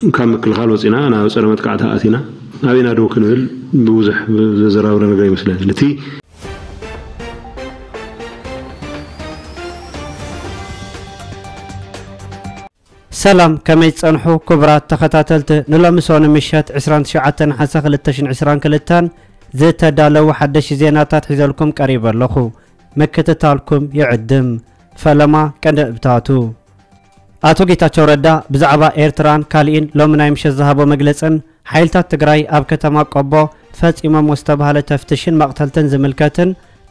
ካብ ምክልኻል ወፂና ናብ ፀረ መጥቃዕቲ ኣቲና ኣበይና ደው ክንብል ብዙሕ ዘዘራብረ ነገር ይመስለኒ። እቲ ሰላም፣ ከመይ ጸንሑ ክቡራት ተኸታተልቲ? ንሎሚ ሰኑ ምሸት ዕስራን ትሽዓተን ነሓሰ ክልተ ሽሕን ዕስራን ክልተን ዝተዳለዉ ሓደሽ ዜናታት ሒዘልኩም ቀሪበ ኣለኹ። ምክትታልኩም ይዕድም። ፈለማ ቀንዲ ነጥብታቱ። ኣቶ ጌታቸው ረዳ ብዛዕባ ኤርትራን ካሊእን ሎሚ ናይ ምሸት ዝሃቦ መግለጽን ሓይልታት ትግራይ ኣብ ከተማ ቆቦ ፈጺሞም ዝተባህለ ተፍትሽን መቕተልትን ዝምልከትን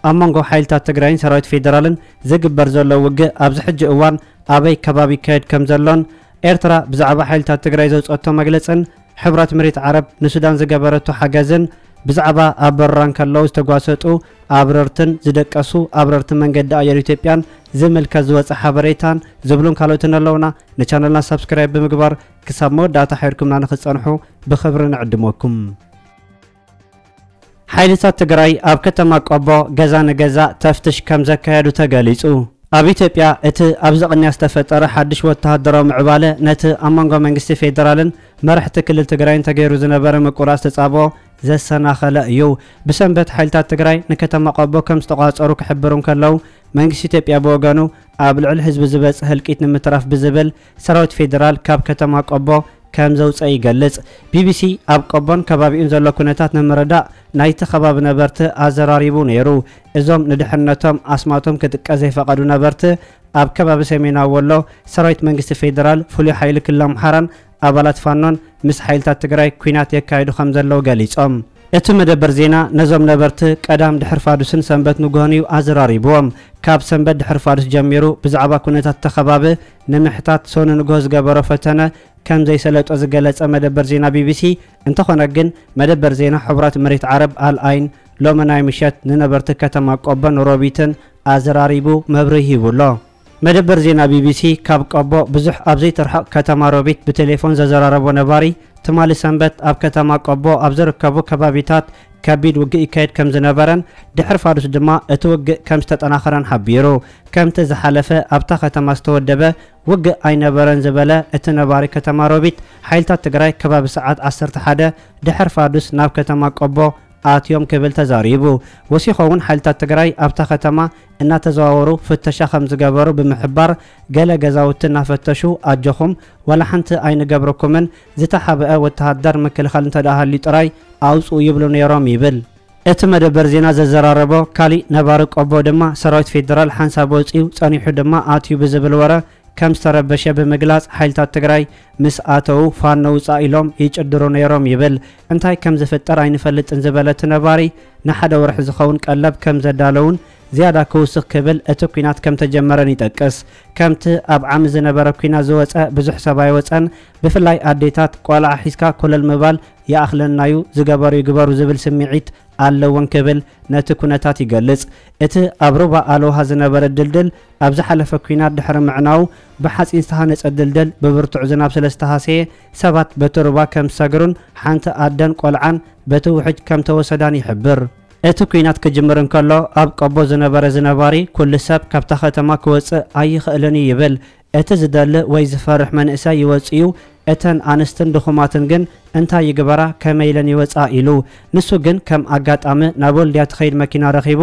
ኣብ መንጎ ሓይልታት ትግራይን ሰራዊት ፌደራልን ዝግበር ዘሎ ውግእ ኣብዚ ሕጂ እዋን ኣበይ ከባቢ ይካየድ ከም ዘሎን ኤርትራ ብዛዕባ ሓይልታት ትግራይ ዘውጸቶ መግለጽን ሕብረት መሬት ዓረብ ንሱዳን ዝገበረቶ ሓገዝን ብዛዕባ ኣብ በረራ እንከለዉ ዝተጓሰጡ ኣብረርትን ዝደቀሱ ኣብረርቲ መንገዲ ኣየር ኢትዮጵያን ዝምልከት ዝወፀ ሓበሬታን ዝብሉን ካልኦትን ኣለውና። ንቻነልና ሳብስክራይብ ብምግባር ክሳብ መወዳእታ ሓይርኩምና ንክትፀንሑ ብክብሪ ንዕድመኩም። ሓይልታት ትግራይ ኣብ ከተማ ቆቦ ገዛ ንገዛ ተፍትሽ ከም ዘካየዱ ተገሊጹ። ኣብ ኢትዮጵያ እቲ ኣብዚ ቅንያ ዝተፈጠረ ሓድሽ ወተሃደራዊ ምዕባለ ነቲ ኣብ መንጎ መንግስቲ ፌደራልን መራሕቲ ክልል ትግራይን ተገይሩ ዝነበረ ምቁራጽ ተጻብኦ ዘሰናኸለ እዩ። ብሰንበት ሓይልታት ትግራይ ንከተማ ቆቦ ከም ዝተቋጸሩ ክሕብሩ እንከለዉ መንግስቲ ኢትዮጵያ ብወገኑ ኣብ ልዕሊ ህዝቢ ዝበጽሕ ህልቂት ንምትራፍ ብዝብል ሰራዊት ፌደራል ካብ ከተማ ቆቦ ከም ዘውፀ ይገልጽ። ቢቢሲ ኣብ ቆቦን ከባቢኡን ዘሎ ኩነታት ንምርዳእ ናይቲ ከባቢ ነበርቲ ኣዘራሪቡ ነይሩ። እዞም ንድሕነቶም ኣስማቶም ክጥቀስ ዘይፈቐዱ ነበርቲ ኣብ ከባቢ ሰሜናዊ ወሎ ሰራዊት መንግስቲ ፌደራል ፍሉይ ሓይሊ ክልል ኣምሓራን ኣባላት ፋኖን ምስ ሓይልታት ትግራይ ኲናት የካይዱ ከም ዘለዉ ገሊጾም። እቲ መደበር ዜና ነዞም ነበርቲ ቀዳም ድሕሪ ፋዱስን ሰንበት ንግሆን እዩ ኣዘራሪብዎም። ካብ ሰንበት ድሕሪ ፋዱስ ጀሚሩ ብዛዕባ ኩነታት እቲ ከባቢ ንምሕታት ሶኒ ንግሆ ዝገበሮ ፈተነ ከም ዘይሰለጦ ዝገለጸ መደበር ዜና ቢቢሲ፣ እንተኾነ ግን መደበር ዜና ሕቡራት መሬት ዓረብ ኣል ኣይን ሎሚ ናይ ምሸት ንነበርቲ ከተማ ቆቦን ሮቢትን ኣዘራሪቡ መብርሂ ሂቡ ኣሎ። መደበር ዜና ቢቢሲ ካብ ቆቦ ብዙሕ ኣብ ዘይትርሕቕ ከተማ ሮቢት ብቴሌፎን ዘዘራረቦ ነባሪ፣ ትማሊ ሰንበት ኣብ ከተማ ቆቦ ኣብ ዝርከቡ ከባቢታት ከቢድ ውግእ ይካየድ ከም ዝነበረን ድሕሪ ፋዱስ ድማ እቲ ውግእ ከም ዝተጠናኸረን ሓቢሩ። ከምቲ ዝሓለፈ ኣብታ ከተማ ዝተወደበ ውግእ ኣይነበረን ዝበለ እቲ ነባሪ ከተማ ሮቢት፣ ሓይልታት ትግራይ ከባቢ ሰዓት ዓሰርተ ሓደ ድሕሪ ፋዱስ ናብ ከተማ ቆቦ ኣትዮም ክብል ተዛሪቡ። ወሲኾ እውን ሓይልታት ትግራይ ኣብታ ከተማ እናተዘዋወሩ ፍተሻ ከም ዝገበሩ ብምሕባር፣ ገለ ገዛውቲ እናፈተሹ ኣጆኹም ዋላ ሓንቲ ኣይንገብረኩምን፣ ዝተሓብአ ወተሃደር ምክልኻል እንተደኣ ሃልዩ ጥራይ ኣውፅኡ ይብሉ ነይሮም ይብል። እቲ መደበር ዜና ዘዘራረቦ ካሊእ ነባሪ ቆቦ ድማ ሰራዊት ፌደራል ሓንሳብ ወፂኡ ፀኒሑ ድማ ኣትዩ ብዝብል ወረ ከም ዝተረበሸ ብምግላፅ ሓይልታት ትግራይ ምስ ኣተዉ ፋኖ ውፃእ ኢሎም ይጭድሩ ነይሮም ይብል። እንታይ ከም ዝፍጠር ኣይንፈልጥን ዝበለ እቲ ነባሪ ንሓደ ወርሒ ዝኸውን ቀለብ ከም ዘዳለውን ዝያዳ ክውስኽ ክብል እቲ ኲናት ከም ተጀመረን ይጠቅስ። ከምቲ ኣብ ዓሚ ዝነበረ ኲናት ዝወፀ ብዙሕ ሰብ ኣይወፀን። ብፍላይ ኣዴታት ቆልዓ ሒዝካ ኮለል ምባል ይኣኽለናዩ፣ ዝገበሩ ይግበሩ ዝብል ስምዒት ኣለወን ክብል ነቲ ኩነታት ይገልጽ። እቲ ኣብ ሩባ ኣልውሃ ዝነበረ ድልድል ኣብ ዝሓለፈ ኲናት ድሕሪ ምዕናዉ ብሓጺን ዝተሃነጸ ድልድል ብብርቱዕ ዝናብ ስለ ዝተሃሰየ ሰባት በቲ ሩባ ከም ዝሰግሩን ሓንቲ ኣደን ቆልዓን በቲ ውሕጅ ከም ተወሰዳን ይሕብር። እቲ ኲናት ክጅምር እንከሎ ኣብ ቆቦ ዝነበረ ዝነባሪ ኩሉ ሰብ ካብታ ከተማ ክወጽእ ኣይኽእልን እዩ ይብል። እቲ ዝደሊ ወይ ዝፈርሕ መንእሰይ ይወጽእ እዩ፣ እተን ኣንስትን ድኹማትን ግን እንታይ ይግበራ ከመይ ኢለን ይወጽኣ ኢሉ። ንሱ ግን ከም ኣጋጣሚ ናብ ወልድያ ትኸይድ መኪና ረኺቡ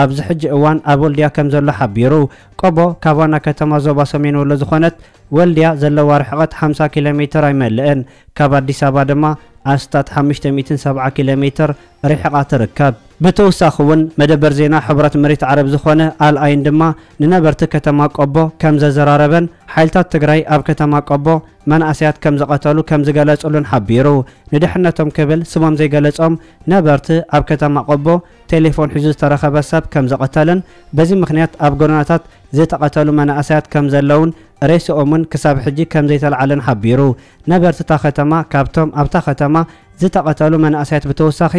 ኣብዚ ሕጂ እዋን ኣብ ወልድያ ከም ዘሎ ሓቢሩ። ቆቦ ካብ ዋና ከተማ ዞባ ሰሜን ወሎ ዝኾነት ወልድያ ዘለዋ ርሕቐት ሓምሳ ኪሎ ሜትር ኣይመልእን። ካብ ኣዲስ ኣበባ ድማ ኣስታት ሓሙሽተ ሚእትን ሰብዓ ኪሎ ሜትር ርሒቓ ትርከብ። ብተወሳኺ እውን መደበር ዜና ሕቡራት መሬት ዓረብ ዝኾነ ኣል ኣይን ድማ ንነበርቲ ከተማ ቆቦ ከም ዘዘራረበን ሓይልታት ትግራይ ኣብ ከተማ ቆቦ መናእሰያት ከም ዝቐተሉ ከም ዝገለጹሉን ሓቢሩ። ንድሕነቶም ክብል ስሞም ዘይገለጾም ነበርቲ ኣብ ከተማ ቆቦ ቴሌፎን ሒዙ ዝተረኸበ ሰብ ከም ዝቐተልን በዚ ምኽንያት ኣብ ጎደናታት ዝተቐተሉ መናእሰያት ከም ዘለውን ሬስኦምን ክሳብ ሕጂ ከም ዘይተለዓለን ሓቢሩ። ነበርቲ እታ ከተማ ካብቶም ኣብታ ከተማ ዝተቐተሉ መናእሰያት ብተወሳኺ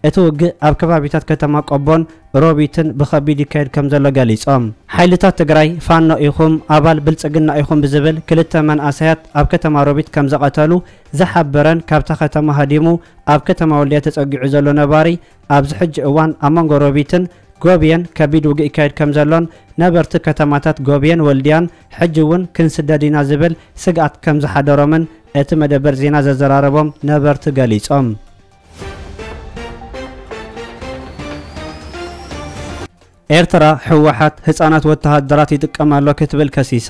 እቲ ውግእ ኣብ ከባቢታት ከተማ ቆቦን ሮቢትን ብኸቢድ ይካየድ ከም ዘሎ ገሊጾም። ሓይልታት ትግራይ ፋኖ ኢኹም ኣባል ብልጽግና ኢኹም ብዝብል ክልተ መንእሰያት ኣብ ከተማ ሮቢት ከም ዘቐተሉ ዝሓበረን ካብታ ከተማ ሃዲሙ ኣብ ከተማ ወልድያ ተጸጊዑ ዘሎ ነባሪ ኣብዚ ሕጂ እዋን ኣብ መንጎ ሮቢትን ጎብየን ከቢድ ውግእ ይካየድ ከም ዘሎን ነበርቲ ከተማታት ጎብየን ወልድያን ሕጂ እውን ክንስደድ ኢና ዝብል ስግኣት ከም ዝሓደሮምን እቲ መደበር ዜና ዘዘራረቦም ነበርቲ ገሊጾም። ኤርትራ ህወሓት ህጻናት ወተሃደራት ይጥቀም ኣሎ ክትብል ከሲሳ።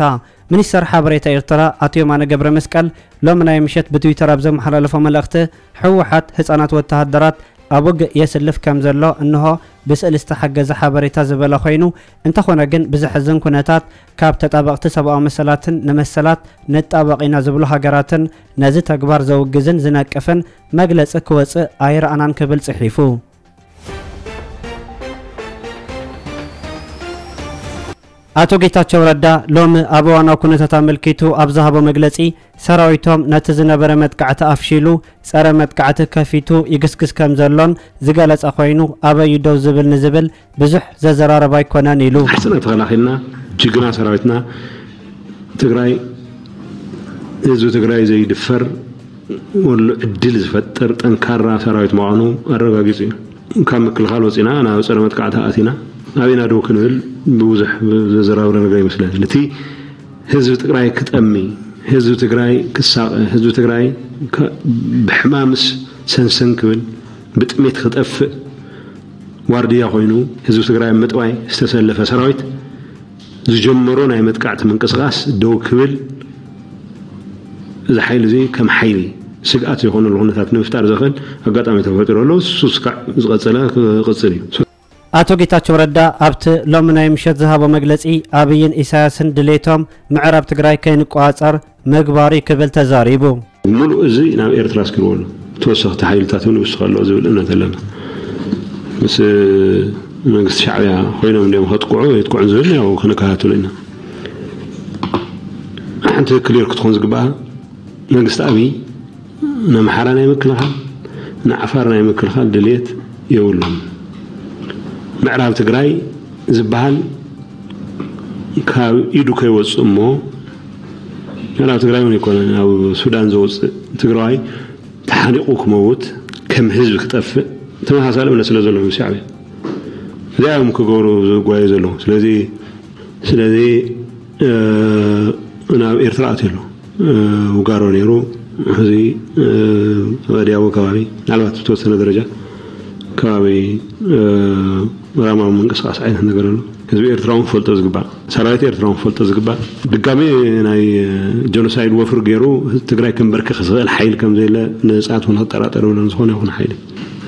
ሚኒስተር ሓበሬታ ኤርትራ ኣቶ የማነ ገብረ መስቀል ሎሚ ናይ ምሸት ብትዊተር ኣብ ዘመሓላለፎ መልእኽቲ፣ ህወሓት ህጻናት ወተሃደራት ኣብ ውግእ የስልፍ ከም ዘሎ እንሆ ብስእሊ ዝተሓገዘ ሓበሬታ ዝበለ ኮይኑ፣ እንተኾነ ግን ብዘሕዝን ኩነታት ካብ ተጣበቕቲ ሰብኣዊ መሰላትን ንመሰላት ንጣበቕ ኢና ዝብሉ ሃገራትን ነዚ ተግባር ዘውግዝን ዝነቅፍን መግለጺ ክወጽእ ኣይረኣናን ክብል ጽሒፉ። ኣቶ ጌታቸው ረዳ ሎሚ ኣብ እዋናዊ ኩነታት ኣመልኪቱ ኣብ ዝሃቦ መግለጺ፣ ሰራዊቶም ነቲ ዝነበረ መጥቃዕቲ ኣፍሺሉ ጸረ መጥቃዕቲ ከፊቱ ይግስግስ ከም ዘሎን ዝገለጸ ኮይኑ፣ ኣበዩ ደው ዝብል ንዝብል ብዙሕ ዘዘራርብ ኣይኮነን ኢሉ። ሕጽና ተኸላኺልና፣ ጅግና ሰራዊትና ትግራይ፣ ህዝቢ ትግራይ ዘይድፈር፣ ወሎ ዕድል ዝፈጥር ጠንካራ ሰራዊት ምዃኑ ኣረጋጊጹ እዩ። ካብ ምክልኻል ወጺና ናብ ጸረ መጥቃዕቲ ኣቲና፣ ኣበይና ደው ክንብል ብብዙሕ ዘዘራርብ ነገር ይመስለኒ። ነቲ ህዝቢ ትግራይ ክጠሚ፣ ህዝቢ ትግራይ ክሳቐ፣ ህዝቢ ትግራይ ከ-፣ ብሕማምስ ሰንሰን ክብል፣ ብጥሜት ክጠፍእ ዋርድያ ኮይኑ ህዝቢ ትግራይ ኣብ ምጥዋይ ዝተሰለፈ ሰራዊት ዝጀመሮ ናይ መጥቃዕቲ ምንቅስቓስ ደው ክብል፣ እዚ ሓይሊ እዚ ከም ሓይሊ ስግኣት ዝኾነሉ ኩነታት ንምፍጣር ዘኽእል ኣጋጣሚ ተፈጢሩ ኣሎ። እሱ እስካዕ ዝቐጸለ ክቕጽል እዩ። ኣቶ ጌታቸው ረዳ ኣብቲ ሎሚ ናይ ምሸት ዝሃቦ መግለጺ፣ ኣብይን ኢሳያስን ድሌቶም ምዕራብ ትግራይ ከይንቆጻጸር ምግባር እዩ ክብል ተዛሪቡ። ምሉእ እዚ ናብ ኤርትራ ኣስኪርዎ ኣሎ። ተወሰኽቲ ሓይልታት እውን ይውስኽ ኣሎ ዝብል እምነት ኣለና። ምስ መንግስቲ ሻዕብያ ኮይኖም እንዲኦም ከጥቅዑ የጥቅዑን ዝብል ያው ክንከታተሎ ኢና። ሓንቲ ክሊር ክትኾን ዝግባኣ መንግስቲ ኣብይ ንኣምሓራ ናይ ምክልኻል፣ ንዓፋር ናይ ምክልኻል ድልየት የብሉን። ምዕራብ ትግራይ ዝበሃል ካብ ኢዱ ከይወፅእ እሞ፣ ምዕራብ ትግራይ እውን ኣይኮነን፣ ኣብ ሱዳን ዘውፅእ ትግራዋይ ተሓኒቑ ክመውት፣ ከም ህዝቢ ክጠፍእ ተመሳሳሊ እምነት ስለ ዘለዎም ሻዕብያ እዚኣ እዮም ክገብሩ ዝጓዩ ዘለዉ። ስለዚ ስለዚ፣ እ፣ ናብ ኤርትራ ኣትዩ ኣሎ። እ፣ ውጋሮ ነይሩ፣ ሕዚ፣ እ፣ ወዲያው ከባቢ፣ ምናልባት ብተወሰነ ደረጃ ከባቢ፣ እ፣ ራማዊ ምንቅስቃስ ዓይነት ነገር ኣሎ። ህዝቢ ኤርትራ እውን ክፈልጦ ዝግባእ፣ ሰራዊት ኤርትራ እውን ክፈልጦ ዝግባእ። ድጋሜ ናይ፣ እ፣ ጀኖሳይድ ወፍሪ ገይሩ ትግራይ ከንበርክኽ ዝኽእል ሓይሊ ከም ዘየለ ንህፃት እውን ክጠራጠር የብሉን፣ ዝኾነ ይኹን ሓይሊ።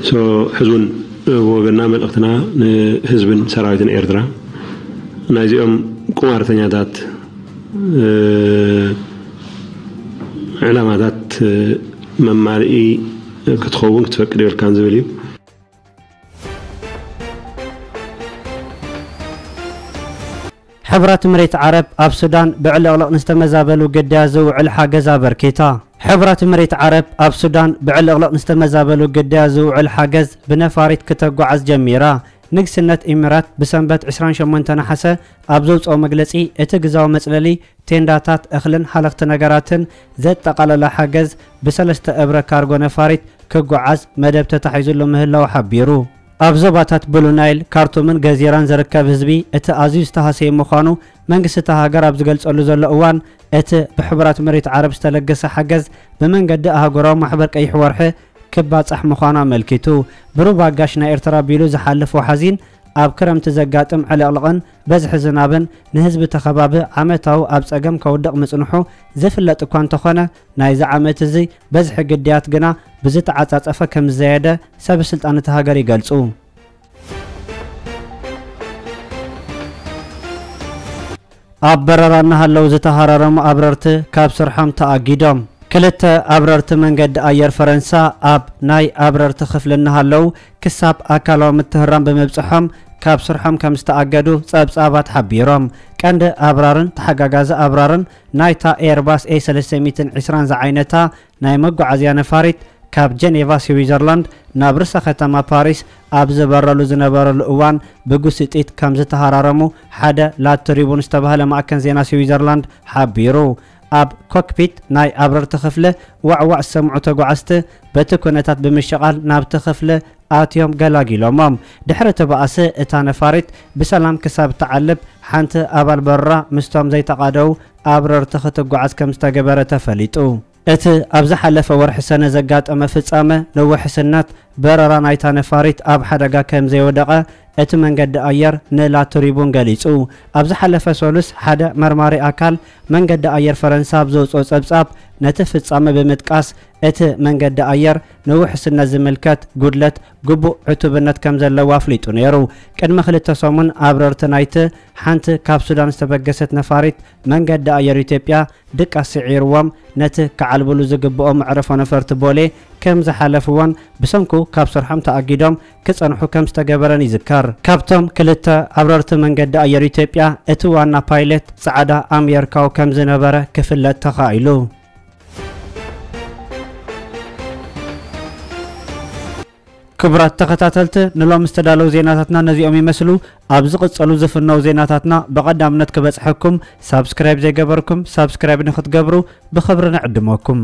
ሶ፣ ሕዚ እውን ብወገንና መልእኽትና ንህዝብን ሰራዊትን ኤርትራ፣ ናይዚኦም ቁማርተኛታት፣ እ፣ ዕላማታት፣ እ፣ መማልኢ ክትኸውን ክትፈቅድ የብልካን ዝብል እዩ። ሕብራት መሬት ዓረብ ኣብ ሱዳን ብዕልቕልቕ ንዝተመዛበሉ ግዳያት ዝውዕል ሓገዝ ኣበርኪታ። ሕብራት መሬት ዓረብ ኣብ ሱዳን ብዕልቕልቕ ንዝተመዛበሉ ግዳያት ዝውዕል ሓገዝ ብነፋሪት ክተጓዓዝ ጀሚራ። ንግስነት ኢሚራት ብሰንበት ዕስራን ሸሞንተ ነሓሰ ኣብ ዘውፅኦ መግለፂ፣ እቲ ግዛዊ መፅለሊ፣ ቴንዳታት፣ እኽልን ሃለኽቲ ነገራትን ዘጠቓለለ ሓገዝ ብሰለስተ እብረ ካርጎ ነፋሪት ክጓዓዝ መደብ ተታሒዙሉ ምህላዉ ሓቢሩ። ኣብ ዞባታት ብሉ ናይል፣ ካርቱምን ገዚራን ዝርከብ ህዝቢ እቲ ኣዝዩ ዝተሃሰየ ምዃኑ መንግስቲ እታ ሃገር ኣብ ዝገልጸሉ ዘሎ እዋን፣ እቲ ብሕቡራት መሬት ዓረብ ዝተለገሰ ሓገዝ ብመንገዲ ኣህጉራዊ ማሕበር ቀይሕ ወርሒ ክባጻሕ ምዃኑ ኣመልኪቱ። ብሩባ ጋሽ ናይ ኤርትራ ቢሉ ዝሓልፍ ወሓዚን ኣብ ክረምቲ ዘጋጥም ዕልቕልቕን በዝሒ ዝናብን ንህዝቢ እቲ ከባቢ ዓመታዊ ኣብ ጸገም ከውድቕ ምጽንሑ ዝፍለጥ እኳ እንተኾነ፣ ናይዚ ዓመት እዚ በዝሒ ግዳያት ግና ብዝተዓጻጸፈ ከም ዝዘየደ ሰበ ስልጣን እታ ሃገር ይገልጹ። ኣብ በረራ እናሃለዉ ዝተሃራረሙ ኣብረርቲ ካብ ስርሖም ተኣጊዶም። ክልተ ኣብረርቲ መንገዲ ኣየር ፈረንሳ ኣብ ናይ ኣብረርቲ ክፍሊ እናሃለዉ ክሳብ ኣካላዊ ምትህራም ብምብጽሖም ካብ ስርሖም ከም ዝተኣገዱ ጸብጻባት ሓቢሮም። ቀንዲ ኣብራርን ተሓጋጋዚ ኣብራርን ናይታ ኤርባስ ኤ ሰለስተ ሚእትን ዕስራን ዝዓይነታ ናይ መጓዓዝያ ነፋሪት ካብ ጀኔቫ ስዊዘርላንድ ናብ ርእሰ ከተማ ፓሪስ ኣብ ዝበረሉ ዝነበረሉ እዋን ብጉስጢት ከም ዝተሃራረሙ ሓደ ላትሪቡን ዝተባህለ ማእከን ዜና ስዊዘርላንድ ሓቢሩ። ኣብ ኮክፒት ናይ ኣብረርቲ ክፍሊ ዋዕዋዕ ዝሰምዑ ተጓዓዝቲ በቲ ኩነታት ብምሽቓል ናብቲ ክፍሊ ኣትዮም ገላጊሎሞም። ድሕሪ እቲ ባእሲ እታ ነፋሪት ብሰላም ክሳብ እትዓልብ ሓንቲ ኣባል በረራ ምስቶም ዘይተቓደዉ ኣብረርቲ ክትጓዓዝ ከም ዝተገበረ ተፈሊጡ። እቲ ኣብ ዝሓለፈ ወርሒ ሰነ ዘጋጠመ ፍጻመ ንውሕስነት በረራ ናይታ ነፋሪት ኣብ ሓደጋ ከም ዘይወደቐ እቲ መንገዲ ኣየር ንላ ትሪቡን ገሊጹ። ኣብ ዝሓለፈ ሰሉስ ሓደ መርማሪ ኣካል መንገዲ ኣየር ፈረንሳ ኣብ ዘውጽኦ ጸብጻብ ነቲ ፍጻመ ብምጥቃስ እቲ መንገዲ ኣየር ንውሕስነት ዝምልከት ጉድለት ግቡእ ዕቱብነት ከም ዘለዎ ኣፍሊጡ ነይሩ። ቅድሚ ክልተ ሰሙን ኣብረርቲ ናይቲ ሓንቲ ካብ ሱዳን ዝተበገሰት ነፋሪት መንገዲ ኣየር ኢትዮጵያ ድቃስ ስዒርዎም ነቲ ክዓልብሉ ዝግብኦም መዕረፎ ነፈርቲ ቦሌ ከም ዝሓለፍዎን ብሰንኩ ካብ ስርሖም ተኣጊዶም ክጸንሑ ከም ዝተገበረን ይዝከር። ካብቶም ክልተ ኣብረርቲ መንገዲ ኣየር ኢትዮጵያ እቲ ዋና ፓይለት ጻዕዳ ኣምየርካዊ ከም ዝነበረ ክፍለጥ ተኻኢሉ። ክቡራት ተኸታተልቲ፣ ንሎም ዝተዳለዉ ዜናታትና ነዚኦም ይመስሉ። ኣብ ዝቕጸሉ ዝፍነው ዜናታትና ብቐዳምነት ክበጽሐኩም ሳብስክራይብ ዘይገበርኩም ሳብስክራይብ ንክትገብሩ ብኽብሪ ንዕድመኩም።